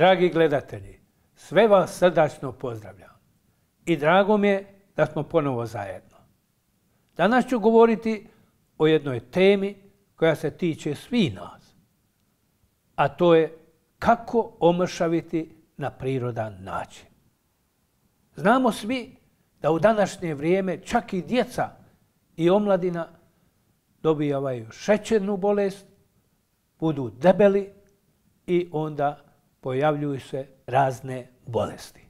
Dragi gledatelji, sve vas srdačno pozdravljam i drago mi je da smo ponovo zajedno. Danas ću govoriti o jednoj temi koja se tiče svih nas, a to je kako omršaviti na prirodan način. Znamo svi da u današnje vrijeme čak i djeca i omladina dobijaju šećernu bolest, budu debeli i onda pojavljuju se razne bolesti.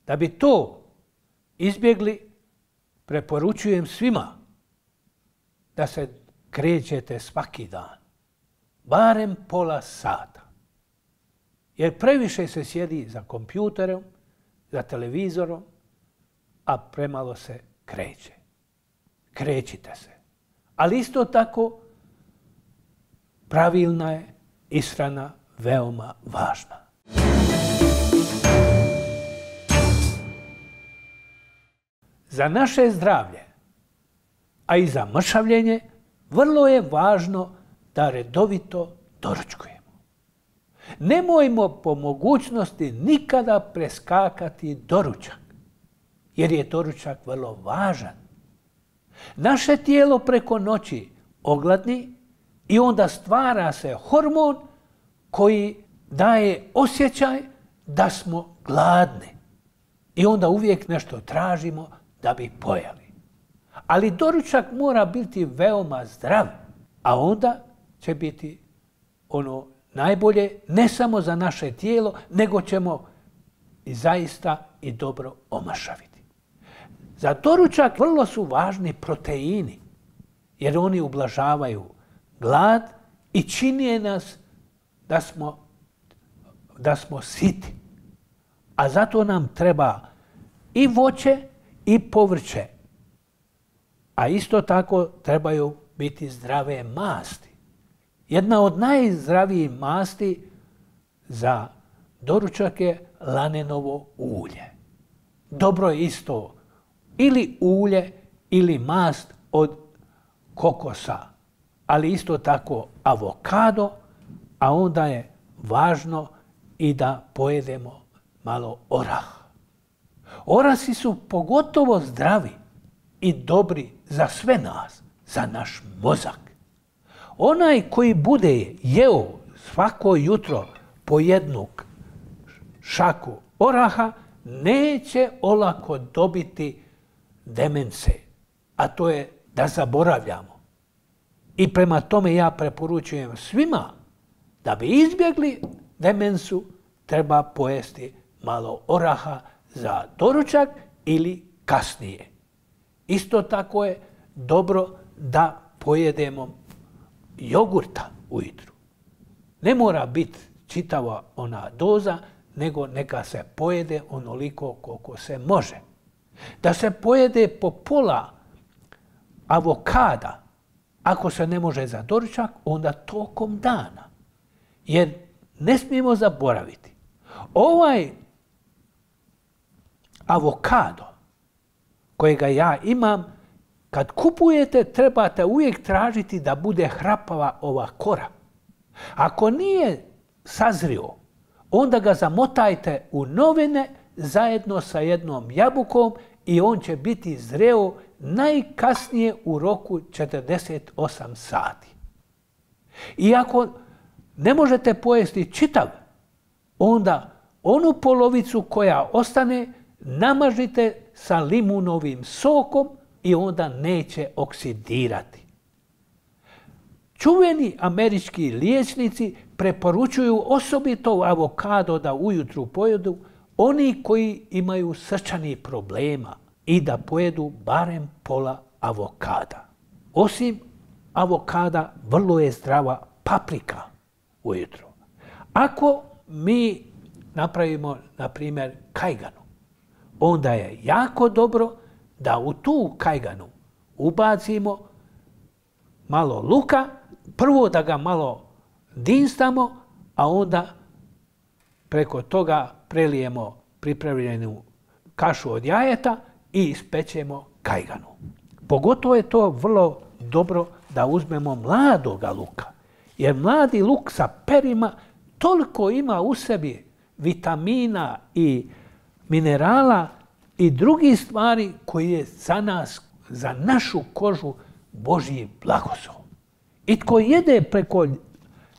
Da bi to izbjegli, preporučujem svima da se krećete svaki dan, barem pola sata. Jer previše se sjedi za kompjuterom, za televizorom, a premalo se kreće. Krećite se. Ali isto tako pravilna je ishrana veoma važna. Za naše zdravlje, a i za mršavljenje, vrlo je važno da redovito doručkujemo. Nemojmo po mogućnosti nikada preskakati doručak, jer je doručak vrlo važan. Naše tijelo preko noći ogladni i onda stvara se hormon koji daje osjećaj da smo gladni. I onda uvijek nešto tražimo da bi pojeli. Ali doručak mora biti veoma zdrav, a onda će biti ono najbolje ne samo za naše tijelo, nego ćemo i zaista i dobro omršaviti. Za doručak vrlo su važni proteini, jer oni ublažavaju glad i čine nas da smo siti. A zato nam treba i voće i povrće. A isto tako trebaju biti zdrave masti. Jedna od najzdravijih masti za doručak je lanenovo ulje. Dobro je isto ili ulje ili mast od kokosa, ali isto tako avokado, a onda je važno i da pojedemo malo oraha. Orasi su pogotovo zdravi i dobri za sve nas, za naš mozak. Onaj koji bude jeo svako jutro po jednu šaku oraha, neće olako dobiti demence, a to je da zaboravljamo. I prema tome ja preporučujem svima da bi izbjegli demencu, treba pojesti malo oraha za doručak ili kasnije. Isto tako je dobro da pojedemo jogurta ujutru. Ne mora biti čitava ona doza, nego neka se pojede onoliko koliko se može. Da se pojede po pola avokada, ako se ne može za doručak, onda tokom dana. Jer ne smijemo zaboraviti, ovaj avokado kojega ja imam, kad kupujete, trebate uvijek tražiti da bude hrapava ova kora. Ako nije sazrio, onda ga zamotajte u novine zajedno sa jednom jabukom i on će biti zreo najkasnije u roku 48 sati. I ako ne možete pojesti čitav, onda onu polovicu koja ostane namažite sa limunovim sokom i onda neće oksidirati. Čuveni američki liječnici preporučuju osobito avokado da ujutru pojedu oni koji imaju srčanih problema i da pojedu barem pola avokada. Osim avokada, vrlo je zdrava paprika ujutru. Ako mi napravimo, na primjer, kajganu, onda je jako dobro da u tu kajganu ubacimo malo luka, prvo da ga malo dinstamo, a onda preko toga prelijemo pripremljenu kašu od jajeta i ispečemo kajganu. Pogotovo je to vrlo dobro da uzmemo mladoga luka, jer mladi luk sa perima toliko ima u sebi vitamina i minerala i drugih stvari koji je za nas, za našu kožu Božji blagoslov. I tko jede preko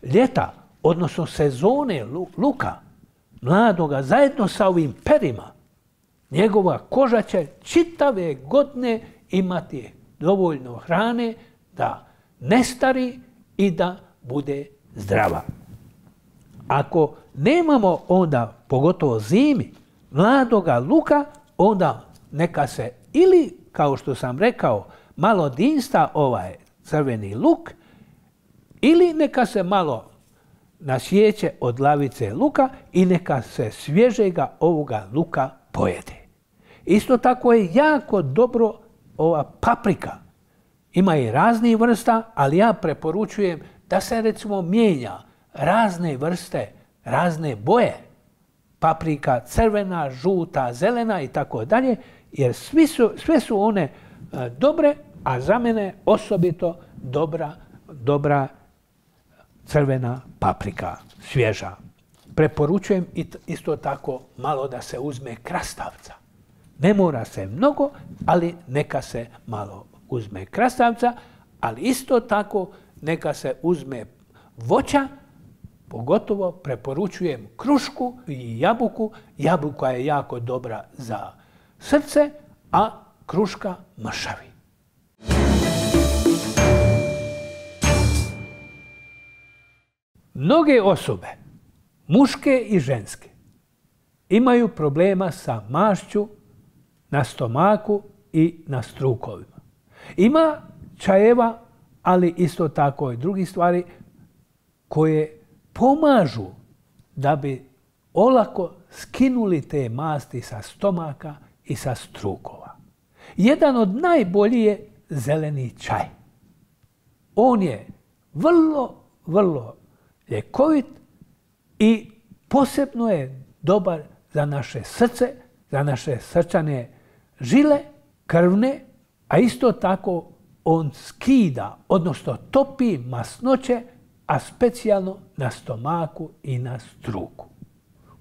ljeta, odnosno sezone luka, mladoga, zajedno sa ovim perima, njegova koža će čitave godine imati dovoljno hrane da ne stari i da bude zdrava. Ako nemamo onda, pogotovo zimi, mladoga luka, onda neka se ili, kao što sam rekao, malo dinsta ovaj crveni luk, ili neka se malo nasjeće od glavice luka i neka se svježega ovoga luka pojede. Isto tako je jako dobro ova paprika. Ima i raznih vrsta, ali ja preporučujem da se recimo mijenja razne vrste, razne boje. Paprika crvena, žuta, zelena i tako dalje, jer sve su one dobre, a za mene osobito dobra crvena paprika, svježa. Preporučujem isto tako malo da se uzme krastavca. Ne mora se mnogo, ali neka se malo uzme krastavca, ali isto tako neka se uzme voća, pogotovo preporučujem krušku i jabuku. Jabuka je jako dobra za srce, a kruška mršavi. Mnoge osobe, muške i ženske, imaju problema sa mašću na stomaku i na strukovima. Ima čajeva, ali isto tako i drugih stvari koje pomažu da bi olako skinuli te masti sa stomaka i sa strukova. Jedan od najboljih je zeleni čaj. On je vrlo ljekovit i posebno je dobar za naše srce, za naše srčane žile, krvne, a isto tako on skida, odnosno topi masnoće, a specijalno na stomaku i na struku.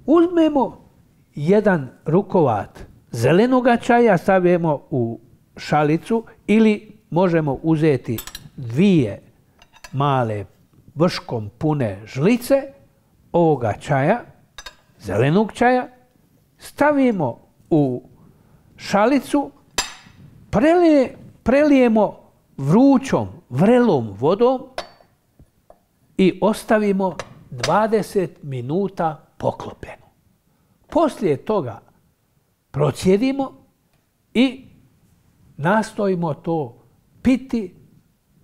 Uzmemo jedan rukovat zelenoga čaja, stavimo u šalicu ili možemo uzeti 2 male vrškom pune žlice ovoga čaja, zelenog čaja, stavimo u šalicu, prelijemo vrućom, vrelom vodom i ostavimo 20 minuta poklopljeno. Poslije toga procjedimo i nastojimo to piti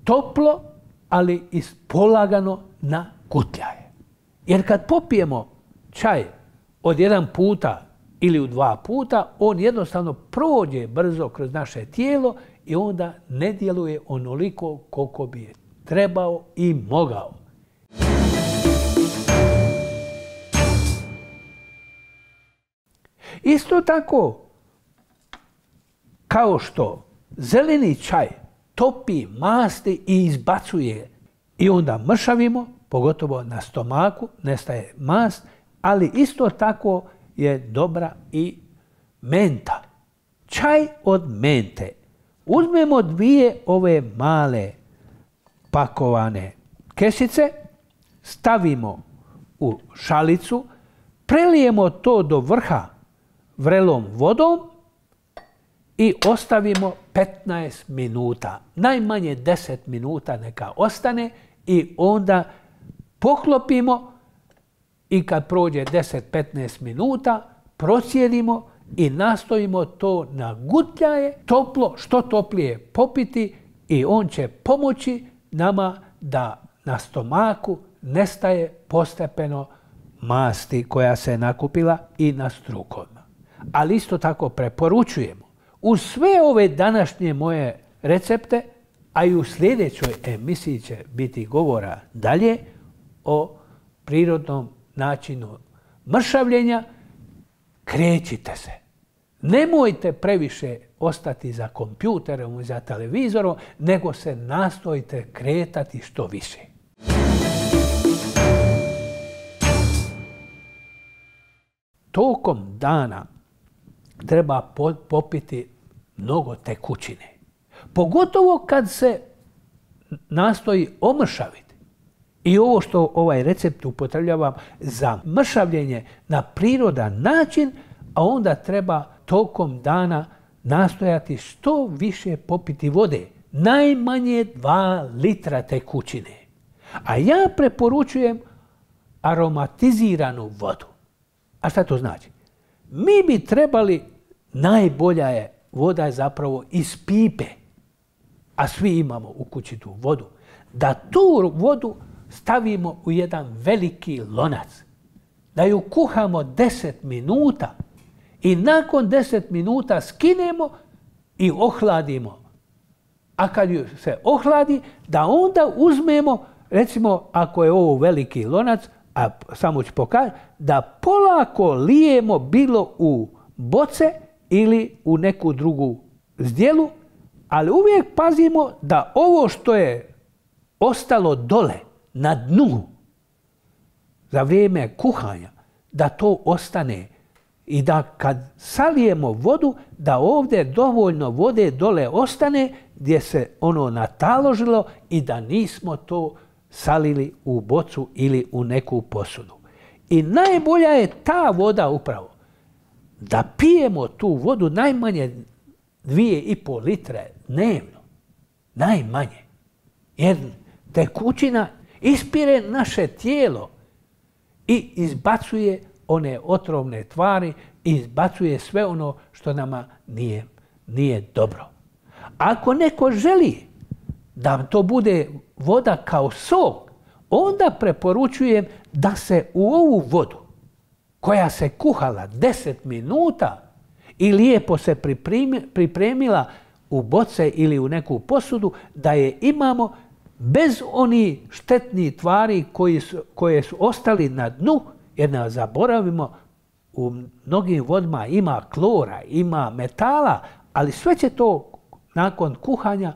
toplo, ali polagano na gutljaje. Jer kad popijemo čaj od 1 puta ili u 2 puta, on jednostavno prođe brzo kroz naše tijelo i onda ne djeluje onoliko koliko bi trebao i mogao. Isto tako, kao što zeleni čaj topi masti i izbacuje i onda mršavimo, pogotovo na stomaku, nestaje mast, ali isto tako je dobra i menta. Čaj od mente. Uzmemo 2 ove male pakovane kesice, stavimo u šalicu, prelijemo to do vrha vrelom vodom i ostavimo 15 minuta. Najmanje 10 minuta neka ostane i onda poklopimo i kad prođe 10-15 minuta procjedimo i nastojimo to na gutljaje toplo, što toplije popiti i on će pomoći nama da na stomaku nestaje postepeno masti koja se nakupila i na strukovima. Ali isto tako preporučujemo uz sve ove današnje moje recepte, a i u sljedećoj emisiji će biti govora dalje o prirodnom načinu mršavljenja, krećite se. Nemojte previše ostati za kompjuterom i za televizorom, nego se nastojite kretati što više. tokom dana treba popiti mnogo tekućine. Pogotovo kad se nastoji omršaviti. I ovo što ovaj recept upotrebljavam za mršavljenje na prirodan način, a onda treba tokom dana nastojati što više popiti vode. Najmanje 2 litra tekućine. A ja preporučujem aromatiziranu vodu. A šta to znači? Mi bi trebali, najbolja je voda zapravo iz pipe, a svi imamo u kući tu vodu, da tu vodu stavimo u jedan veliki lonac, da ju kuhamo 10 minuta i nakon 10 minuta skinemo i ohladimo. A kad ju se ohladi, da onda uzmemo, recimo ako je ovo veliki lonac, a samo ću pokazati, da polako lijemo bilo u boce ili u neku drugu zdjelu, ali uvijek pazimo da ovo što je ostalo dole, na dnu, za vrijeme kuhanja, da to ostane i da kad salijemo vodu, da ovdje dovoljno vode dole ostane gdje se ono nataložilo i da nismo to salili u bocu ili u neku posudu. I najbolja je ta voda upravo, da pijemo tu vodu najmanje 2,5 litre dnevno. Najmanje. Jer tekućina ispire naše tijelo i izbacuje one otrovne tvari i izbacuje sve ono što nama nije dobro. Ako neko želi da to bude voda kao sok, onda preporučujem da se u ovu vodu koja se kuhala 10 minuta i lijepo se pripremila u boce ili u neku posudu, da je imamo bez onih štetnih tvari koje su ostali na dnu, jer ne zaboravimo, u mnogim vodama ima klora, ima metala, ali sve će to nakon kuhanja,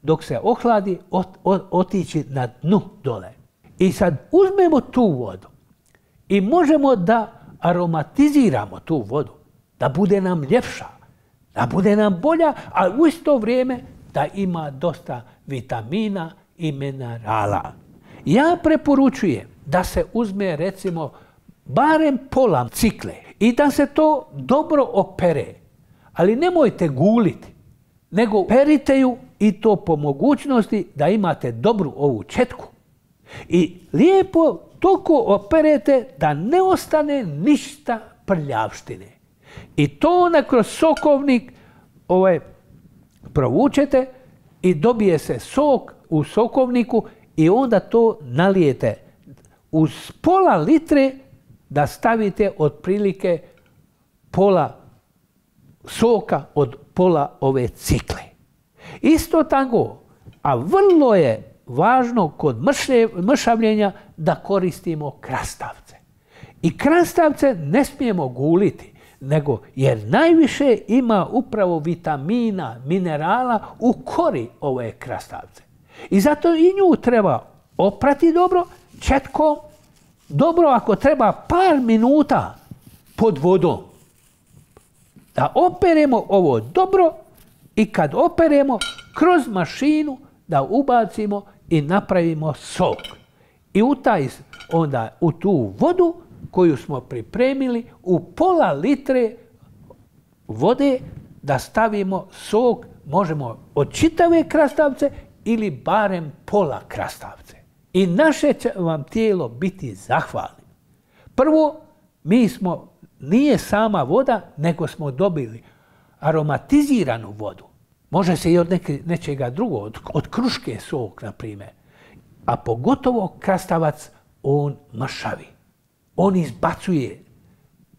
dok se ohladi, otići na dnu dole. I sad uzmemo tu vodu i možemo da aromatiziramo tu vodu, da bude nam ljepša, da bude nam bolja, a u isto vrijeme da ima dosta vitamina i minerala. Ja preporučujem da se uzme recimo barem pola cikle i da se to dobro opere. Ali nemojte guliti, nego perite ju i to po mogućnosti da imate dobru ovu četku. I lijepo toliko operete da ne ostane ništa prljavštine. I to onda kroz sokovnik provučete i dobije se sok u sokovniku i onda to nalijete uz pola litre, da stavite otprilike pola soka od pola ove cikle. Isto tako, a vrlo je važno kod mršavljenja da koristimo krastavce. I krastavce ne smijemo guliti, nego jer najviše ima upravo vitamina, minerala u kori ove krastavce. I zato i nju treba oprati dobro, četkom, dobro ako treba par minuta pod vodom. Da operemo ovo dobro i kad operemo kroz mašinu da ubacimo i napravimo sok. I u tu vodu koju smo pripremili u pola litre vode da stavimo sok, možemo od čitave krastavce ili barem pola krastavce. I naše će vam tijelo biti zahvalno. Prvo, nije sama voda, nego smo dobili aromatiziranu vodu. Može se i od nečega drugog, od kruške sok, na primjer. A pogotovo krastavac, on mršavi. On izbacuje,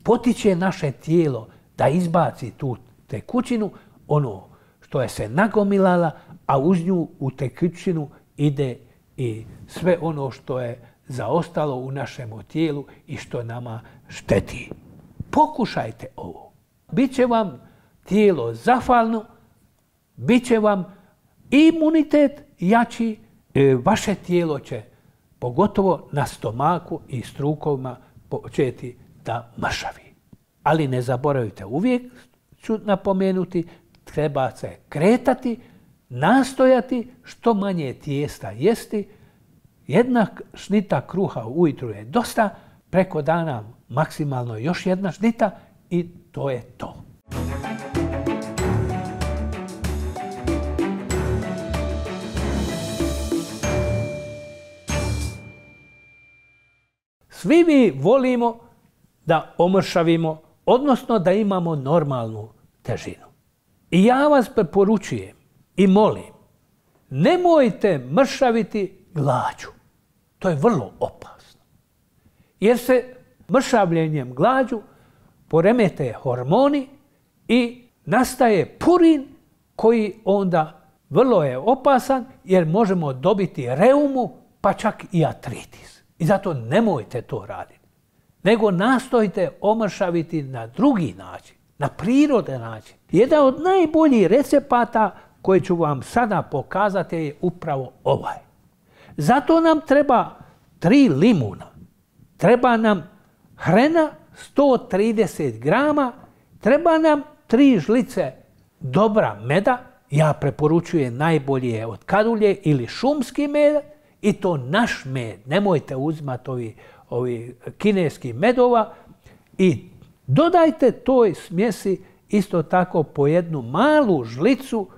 potiče naše tijelo da izbaci tu tekućinu, ono što je se nagomilala, a uz nju u tekućinu ide i sve ono što je zaostalo u našem tijelu i što nama šteti. Pokušajte ovo. Biće vam tijelo zahvalno, bit će vam imunitet jači, vaše tijelo će, pogotovo na stomaku i strukovima, početi da mršavi. Ali ne zaboravite, uvijek ću napomenuti, treba se kretati, nastojati, što manje tijesta jesti. Jedna šnita kruha ujutru je dosta, preko dana maksimalno još jedna šnita i to je to. Svi mi volimo da omršavimo, odnosno da imamo normalnu težinu. I ja vas preporučujem i molim, nemojte mršaviti glađu. To je vrlo opasno. Jer se mršavljenjem glađu poremete hormoni i nastaje purin koji onda vrlo je opasan jer možemo dobiti reumu pa čak i artritis. I zato nemojte to raditi. Nego nastojte omršaviti na drugi način, na prirodan način. Jedan od najboljih recepata koje ću vam sada pokazati je upravo ovaj. Zato nam treba 3 limuna, treba nam hrena 130 grama, treba nam 3 žlice dobra meda, ja preporučujem najbolje od kadulje ili šumski med, i to naš med, nemojte uzimati ovi kineski medova, i dodajte toj smjesi isto tako po jednu malu žlicu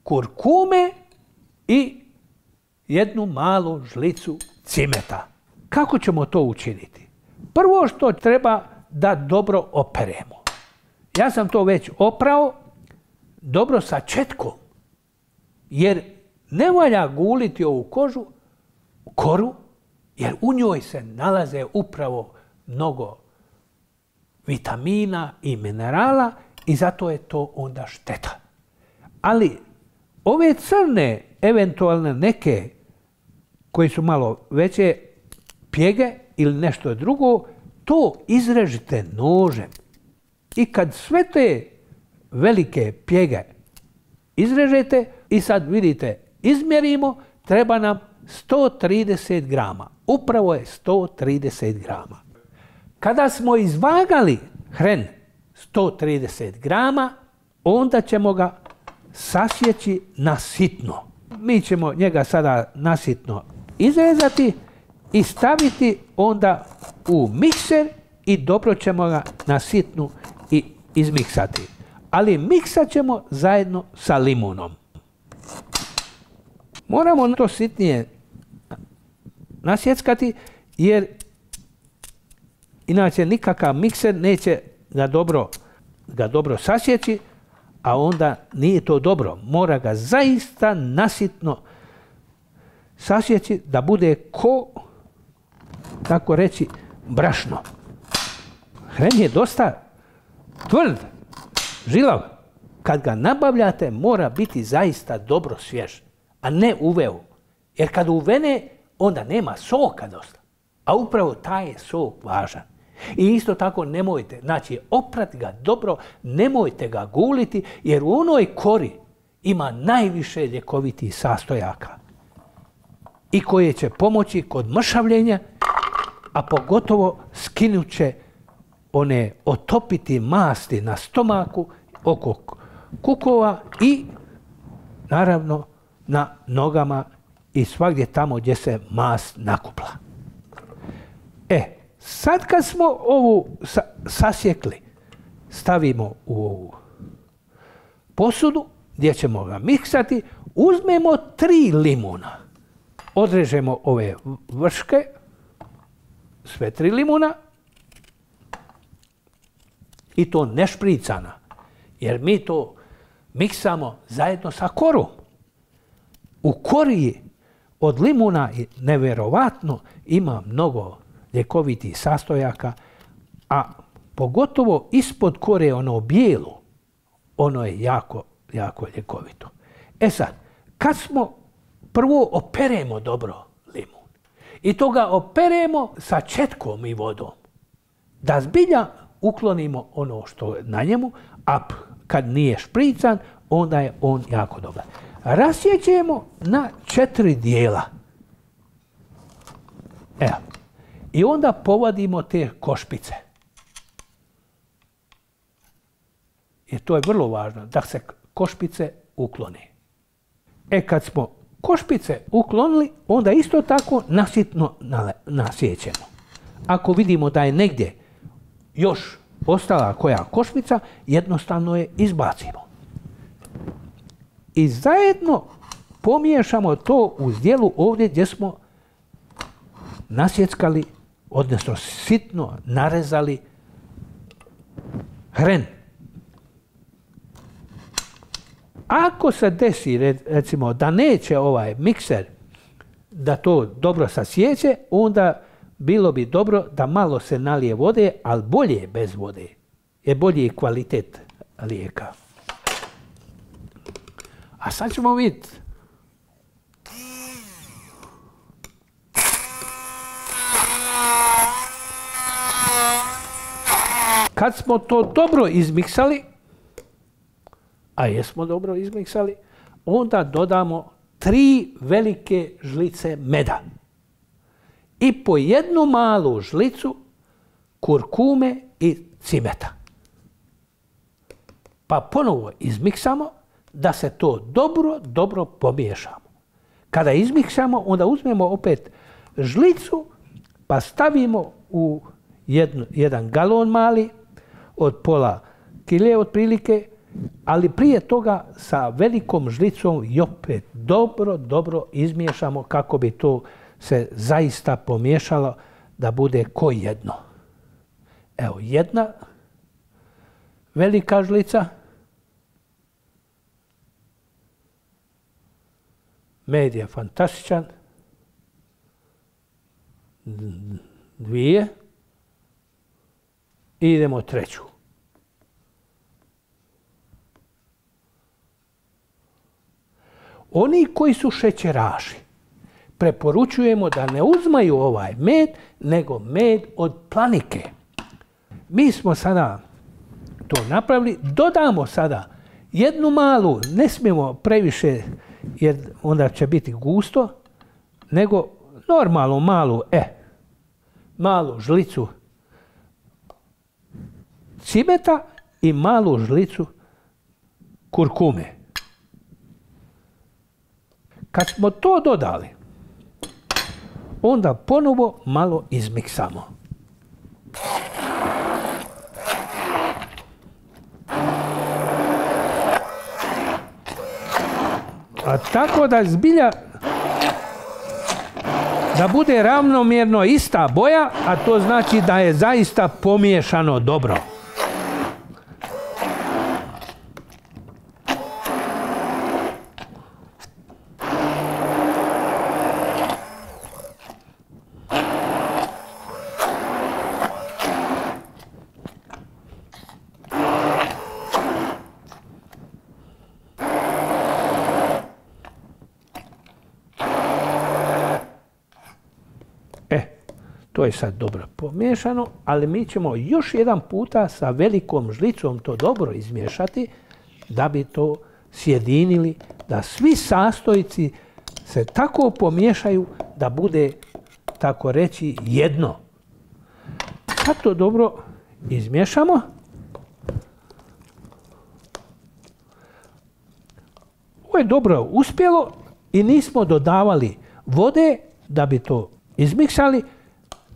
kurkume i jednu malu žlicu cimeta. Kako ćemo to učiniti? Prvo što treba da dobro operemo. Ja sam to već oprao dobro sa četkom, jer ne valja guliti ovu koru, jer u njoj se nalaze upravo mnogo vitamina i minerala i zato je to onda šteta. Ali ove crne, eventualne neke koji su malo veće pjege ili nešto drugo, to izrežite nožem. I kad sve te velike pjege izrežete i sad vidite, izmjerimo, treba nam 130 grama. Upravo je 130 grama. Kada smo izvagali hren 130 grama, onda ćemo ga sasjeći na sitno. Mi ćemo njega sada nasitno izrezati i staviti onda u mikser i dobro ćemo ga na sitnu i izmiksati. Ali miksat ćemo zajedno sa limunom. Moramo to sitnije nasjeckati jer inače nikakav mikser neće ga dobro sasjeći, a onda nije to dobro. Mora ga zaista nasitno sasjeći da bude tako reći, brašno. Hren je dosta tvrd, žilav. Kad ga nabavljate mora biti zaista dobro svjež, a ne uveo. Jer kad uvene, onda nema soka dosta. A upravo taj je sok važan. I isto tako nemojte, znači oprati ga dobro, nemojte ga guliti, jer u onoj kori ima najviše ljekovitih sastojaka i koje će pomoći kod mršavljenja, a pogotovo skinut će one otopiti masti na stomaku, oko kukova i naravno na nogama i svagdje tamo gdje se mast nakupla. Sad kad smo ovu sasjekli, stavimo u ovu posudu gdje ćemo ga miksati, uzmemo 3 limuna. Odrežemo ove vrške, sve 3 limuna, i to ne špricana, jer mi to miksamo zajedno sa korom. U kori od limuna nevjerovatno ima mnogo ljekovitih sastojaka, a pogotovo ispod kore ono bijelo, ono je jako, jako ljekovito. Sad, kad smo prvo operemo dobro limun i to ga operemo sa četkom i vodom, da zbilja uklonimo ono što je na njemu, a kad nije šprican, onda je on jako dobar. Rasjećemo na 4 dijela. I onda povadimo te košpice. i to je vrlo važno, da se košpice uklone. Kad smo košpice uklonili, onda isto tako nasitno nasjećemo. Ako vidimo da je negdje još ostala koja košpica, jednostavno je izbacimo. I zajedno pomiješamo to u zdjelu ovdje gdje smo nasjeckali, odnosno sitno narezali hren. Ako se desi, recimo, da neće ovaj mikser da to dobro sasjeće, onda bilo bi dobro da malo se nalije vode, ali bolje bez vode, jer bolji je kvalitet lijeka. A sad ćemo vidjeti. Kad smo to dobro izmiksali, a jesmo dobro izmiksali, onda dodamo 3 velike žlice meda i po 1 malu žlicu kurkume i cimeta. Pa ponovo izmiksamo da se to dobro pomiješamo. Kada izmiksamo, onda uzmemo opet žlicu pa stavimo u jedan galon mali od pola kile otprilike, ali prije toga sa velikom žlicom i opet dobro izmiješamo kako bi to se zaista pomiješalo da bude ko jedno. Evo, 1 velika žlica. Med je fantastičan. 2. I idemo 3. Oni koji su šećeraši, preporučujemo da ne uzmaju ovaj med, nego med od planike. Mi smo sada to napravili, dodamo sada 1 malu, ne smijemo previše jer onda će biti gusto, nego normalno malu žlicu cimeta i malu žlicu kurkume. Kad smo to dodali, onda ponovo malo izmiksamo. A tako da zbilja da bude ravnomjerno ista boja, a to znači da je zaista pomiješano dobro. To je sad dobro pomiješano, ali mi ćemo još jedan puta sa velikom žlicom to dobro izmiješati da bi to sjedinili, da svi sastojci se tako pomiješaju da bude, tako reći, jedno. Kad to dobro izmiješamo, ovo je dobro uspjelo i nismo dodavali vode da bi to izmiksali,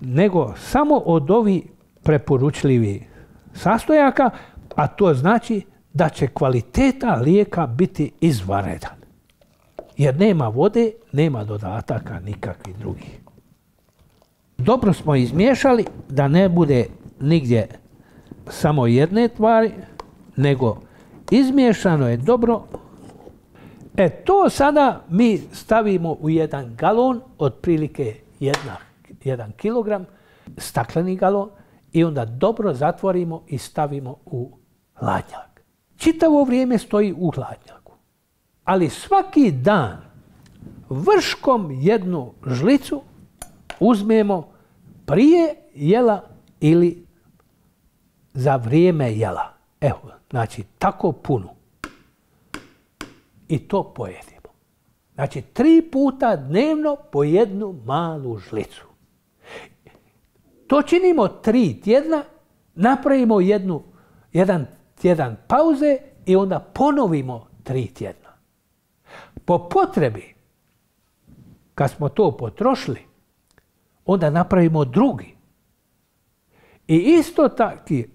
nego samo od ovih preporučljivih sastojaka, a to znači da će kvaliteta lijeka biti izvanredan. Jer nema vode, nema dodataka nikakvih drugih. Dobro smo izmiješali da ne bude nigdje samo jedne tvari, nego izmiješano je dobro. To sada mi stavimo u 1 galon, otprilike 1 kilogram, stakleni galon, i onda dobro zatvorimo i stavimo u hladnjak. Čitavo vrijeme stoji u hladnjaku. Ali svaki dan vrškom 1 žlicu uzmemo prije jela ili za vrijeme jela. Evo, znači tako puno. I to pojedimo. Znači 3 puta dnevno po 1 malu žlicu. To činimo 3 tjedna, napravimo 1 tjedan pauze i onda ponovimo 3 tjedna. Po potrebi, kad smo to potrošili, onda napravimo drugi. I isto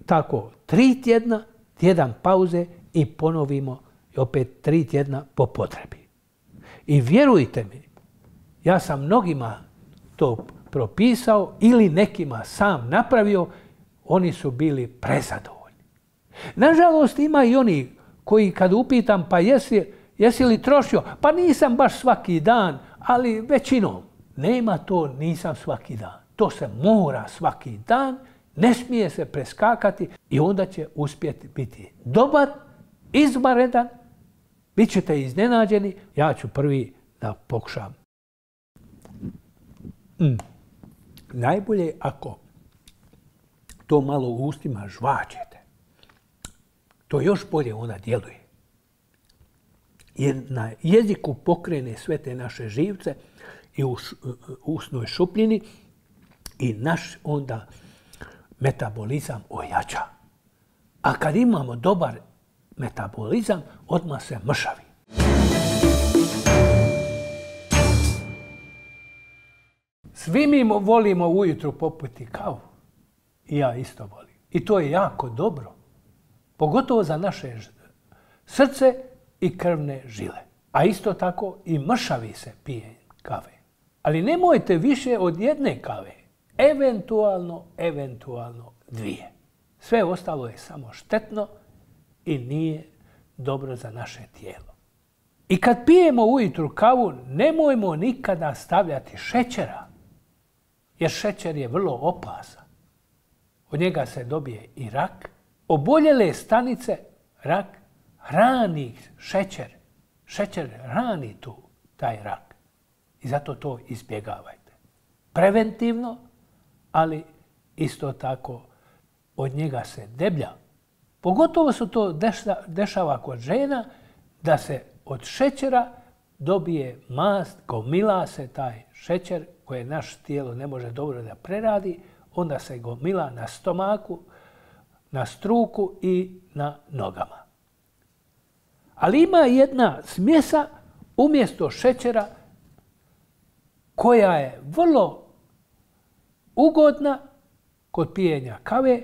tako 3 tjedna, tjedan pauze i ponovimo opet 3 tjedna po potrebi. I vjerujte mi, ja sam mnogima to propisao ili nekima sam napravio, oni su bili prezadovoljni. Nažalost, ima i oni koji kad upitam pa jesi li trošio, pa nisam baš svaki dan, ali većinom. Nema to nisam svaki dan. To se mora svaki dan, ne smije se preskakati i onda će uspjeti biti dobar, izvanredan, bit ćete iznenađeni. Ja ću prvi da pokušam. Najbolje ako to malo u ustima žvačete. To još bolje onda djeluje. Jer na jeziku pokrene sve te naše živce i u usnoj šupljini i naš onda metabolizam ojača. A kad imamo dobar metabolizam, odmah se mršavi. Svi mi volimo ujutro popiti kavu. I ja isto volim. I to je jako dobro. Pogotovo za naše srce i krvne žile. A isto tako i mršavi se pije kave. Ali nemojte više od 1 kave. Eventualno 2. Sve ostalo je samo štetno i nije dobro za naše tijelo. I kad pijemo ujutru kavu, nemojmo nikada stavljati šećera. Jer šećer je vrlo opasan. Od njega se dobije i rak. Oboljele stanice, rak, hrani šećer. Šećer hrani taj rak. I zato to izbjegavajte. Preventivno, ali isto tako od njega se deblja. Pogotovo se to dešava kod žena, da se od šećera dobije mast, gomila se taj šećer koje naš tijelo ne može dobro da preradi, onda se gomila na stomaku, na struku i na nogama. Ali ima jedna smjesa umjesto šećera koja je vrlo ugodna kod pijenja kave,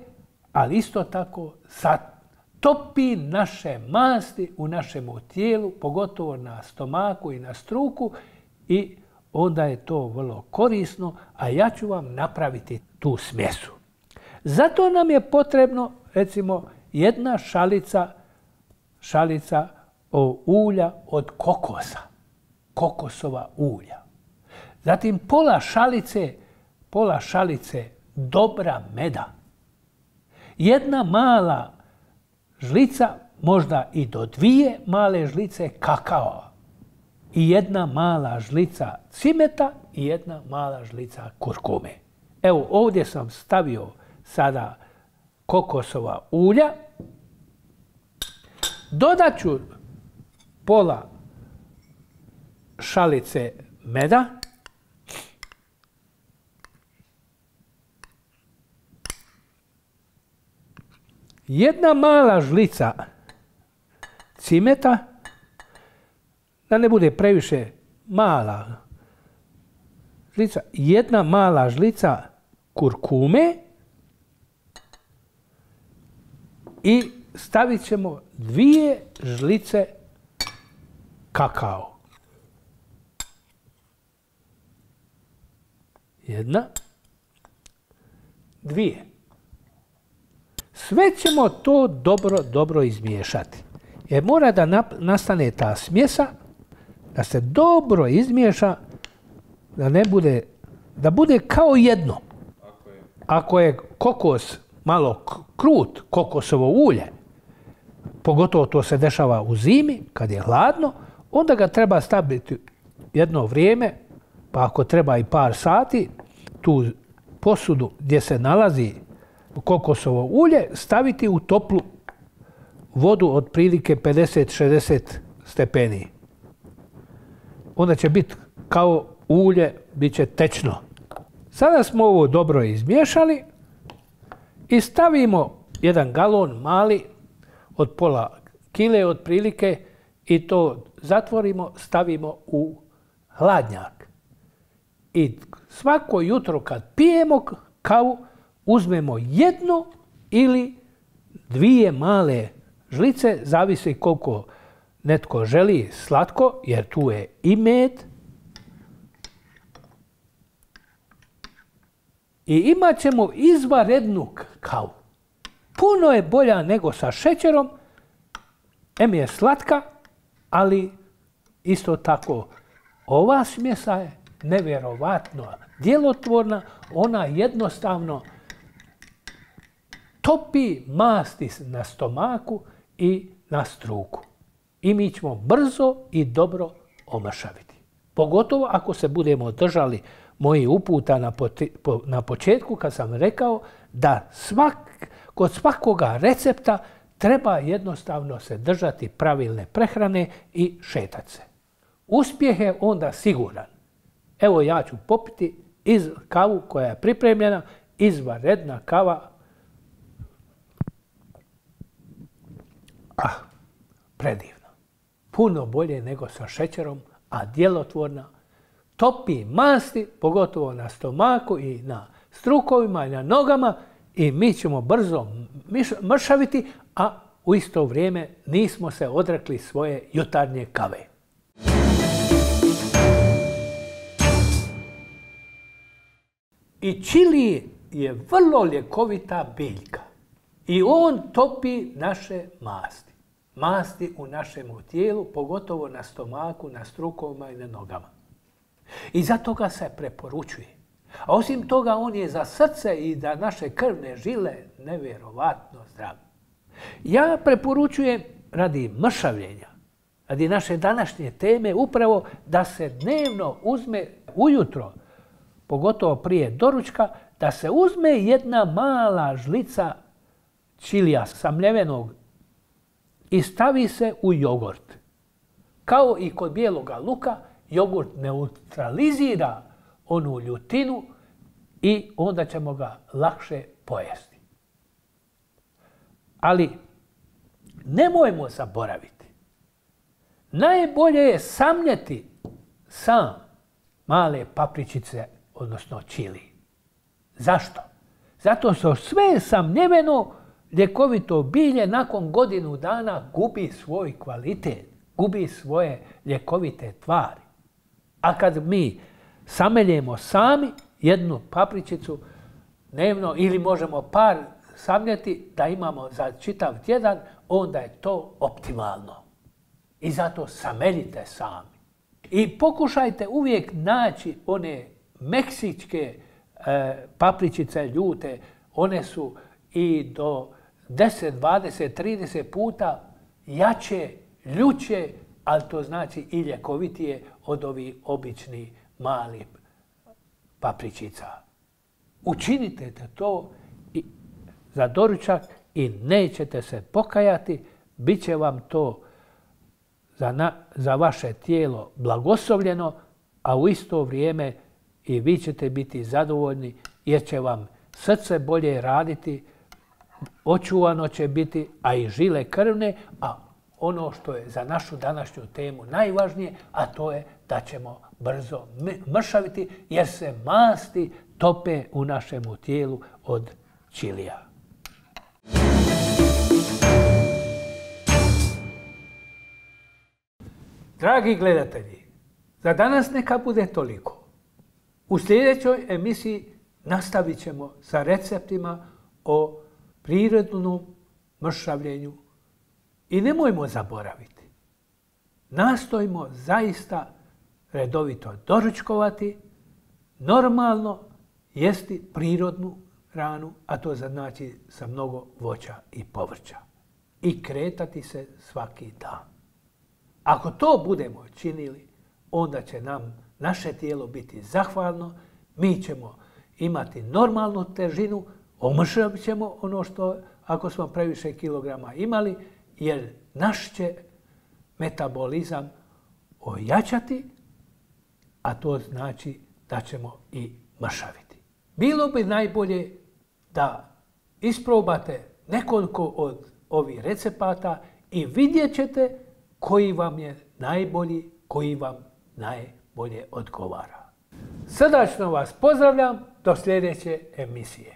ali isto tako zatopi naše masti u našem tijelu, pogotovo na stomaku i na struku i onda je to vrlo korisno, a ja ću vam napraviti tu smjesu. Zato nam je potrebno, recimo, 1 šalica ulja od kokosa, kokosova ulja. Zatim pola šalice dobra meda. 1 mala žlica, možda i do 2 male žlice kakao. I 1 mala žlica cimeta i 1 mala žlica kurkume. Evo ovdje sam stavio sada kokosova ulja. Dodat ću pola šalice meda. Jedna mala žlica cimeta, da ne bude previše mala žlica, 1 mala žlica kurkume i stavit ćemo 2 žlice kakao. 1, 2. Sve ćemo to dobro izmiješati. Jer mora da nastane ta smjesa, da se dobro izmiješa, da bude kao jedno. Ako je kokos malo krut, kokosovo ulje, pogotovo to se dešava u zimi, kad je hladno, onda ga treba staviti jedno vrijeme, pa ako treba i par sati, tu posudu gdje se nalazi kokosovo ulje staviti u toplu vodu od prilike 50-60 stepeni. Onda će biti kao ulje, bit će tečno. Sada smo ovo dobro izmiješali i stavimo 1 galon mali od pola kile otprilike i to zatvorimo, stavimo u hladnjak. I svako jutro kad pijemo kavu, uzmemo jednu ili dvije male žlice, zavisi koliko netko želi slatko, jer tu je i med. I imat ćemo izvanrednu kavu. Puno je bolja nego sa šećerom, em je slatka, ali isto tako ova smjesa je nevjerovatno djelotvorna, ona jednostavno topi masti na stomaku i na struku. I mi ćemo brzo i dobro omršaviti. Pogotovo ako se budemo držali mojih uputa na početku kad sam rekao da kod svakoga recepta treba jednostavno se držati pravilne prehrane i šetati se. Uspjeh je onda siguran. Evo ja ću popiti kavu koja je pripremljena, izvanredna kava. Predivno. Puno bolje nego sa šećerom, a djelotvorna. Topi masti, pogotovo na stomaku i na strukovima i na nogama, i mi ćemo brzo mršaviti, a u isto vrijeme nismo se odrekli svoje jutarnje kave. I čili je vrlo ljekovita biljka i on topi naše masti. Masti u našem tijelu, pogotovo na stomaku, na strukovima i na nogama. I zato ga se preporučuje. A osim toga, on je za srce i za naše krvne žile nevjerovatno zdrav. Ja preporučujem radi mršavljenja, radi naše današnje teme, upravo da se dnevno uzme ujutro, pogotovo prije doručka, da se uzme jedna mala žlica čilija samljevenog i stavi se u jogurt. Kao i kod bijeloga luka, jogurt neutralizira onu ljutinu i onda ćemo ga lakše pojesti. Ali nemojmo zaboraviti, najbolje je samljeti sam male papričice, odnosno čili. Zašto? Zato što sve samljeveno ljekovito bilje nakon godinu dana gubi svoj kvalitet, gubi svoje ljekovite tvari. A kad mi sameljemo sami jednu papričicu dnevno ili možemo par samljeti da imamo za čitav tjedan, onda je to optimalno. I zato sameljite sami. I pokušajte uvijek naći one meksičke papričice ljute. One su i do 10, 20, 30 puta jače, ljuće, ali to znači i ljekovitije od ovih običnih malih papričica. Učinite to za doručak i nećete se pokajati, bit će vam to za vaše tijelo blagoslovljeno, a u isto vrijeme i vi ćete biti zadovoljni jer će vam srce bolje raditi, očuvano će biti, a i žile krvne, a ono što je za našu današnju temu najvažnije, a to je da ćemo brzo mršaviti jer se masti tope u našemu tijelu od čilija. Dragi gledatelji, za danas neka bude toliko. U sljedećoj emisiji nastavit ćemo sa receptima o prirodnom mršavljenju. I nemojmo zaboraviti, nastojimo zaista redovito doručkovati, normalno jesti prirodnu hranu, a to znači sa mnogo voća i povrća. I kretati se svaki dan. Ako to budemo činili, onda će nam naše tijelo biti zahvalno, mi ćemo imati normalnu težinu, omršavit ćemo ono što ako smo previše kilograma imali, jer naš će metabolizam ojačati, a to znači da ćemo i mršaviti. Bilo bi najbolje da isprobate nekoliko od ovih recepata i vidjet ćete koji vam je najbolji, koji vam najbolje odgovara. Srdačno vas pozdravljam do sljedeće emisije.